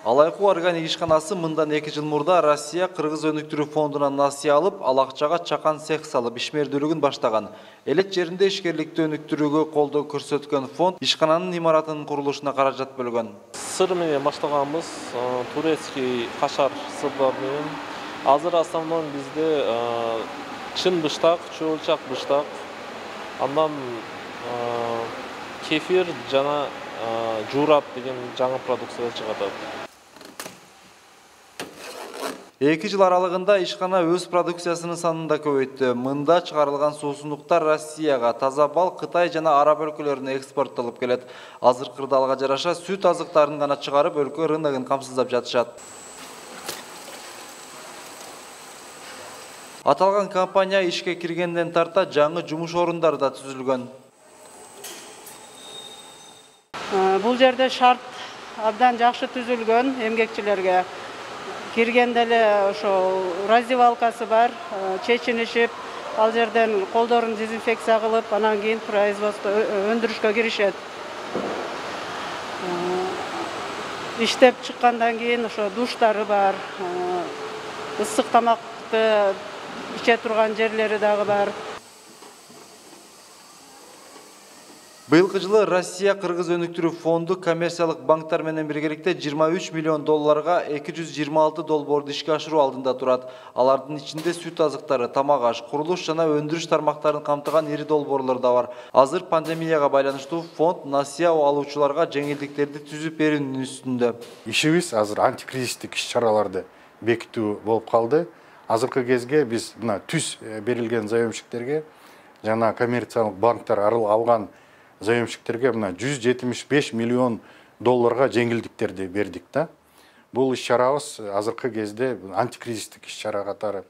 Алайкуу органик ишканасы мындан 2 жыл мурда Россия Кыргыз өнүктүрүү фондунан насыя алып, ал акчага чакан цех салып ишмердүүлүгүн баштаган. Элек жеринде ишкерликти өнүктүрүүгө колдоо көрсөткөн фонд ишкананын имаратынын курулушуна каражат бөлгөн. Сыр менен баштаганбыз, турецкий кашар сырлар менен. Азыр основной бизде чын быштак, чоочак быштак, андан кефир жана жуурап деген жаңы продукция чыгат. 2 жыл аралыгында ишкана өз продукциясынын санын да көбөйттү. Мында чыгарылган суусундуктар Россияга, таза бал Кытай жана Араб өлкөлөрүнө экспорттолуп келет. Азыркы ырдалга жараша сүт азыктарын гана чыгарып, өлкө рыногун камсыздап жатышат. Аталган компания ишке киргенден тарта жаңы жумуш орундары да түзүлгөн. Бул жерде шарт абдан жакшы түзүлгөн эмгекчилерге. Киргенде эле ошо раздевалкасы бар, чечинишип, ал жерден колдорун дезинфекция кылып, анан кийин производство өндүрүшкө киришет. Иштеп чыккандан кийин ошо душтары бар, ысык тамакты иче турган жерлери дагы бар. Быйылкы жылы Россия Кыргыз өнүктүрүү фонду коммерциялык банктар менен биргеликте 23 миллион долларга 226 долбоорду ишке ашыруу алдында турат. Алардын ичинде сүт азыктары, тамак аш, курулуш жана өндүрүш тармактарын камтыган ири долбоорлор да бар. Азыр пандемияга байланыштуу фонд насыя алуучуларга жеңилдиктерди түзүп берүүнүн үстүндө. Ишибиз азыр антикризистик иш-чараларды бекитүү болуп калды. Азыркы кезге биз мына түз берилген заемщиктерге жана коммерциялык банктар алган заемщиктерге мына 175 миллион долларга жеңилдиктерди бердик да. Бул иш-чарабыз азыркы кезде антикризистик иш-чара катары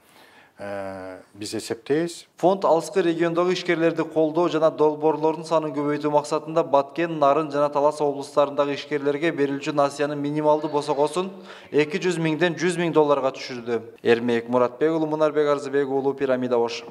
биз эсептейбиз. Фонд алыскы региондогу ишкерлерди колдоо жана долбоорлордун санын көбөйтүү максатында Баткен, Нарын жана Талас облустарындагы ишкерлерге берилчү насыянын минималдуу босогосун 200 миңден 100 миң долларга түшүрдү. Эрмек Муратбек уулу, Мунарбек Арзыбек уулу, Пирамида Ош.